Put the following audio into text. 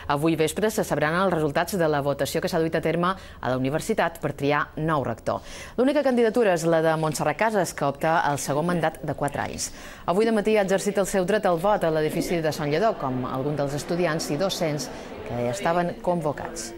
Avui vespre se sabran els resultats de la votació que s'ha duit a terme a la universitat per triar nou rector. L'única candidatura és la de Montserrat Casas, que opta al segon mandat de 4 anys. Avui de matí ha exercit el seu dret al vot a l'edifici de Sant Lledó, com alguns dels estudiants i docents que estaven convocats.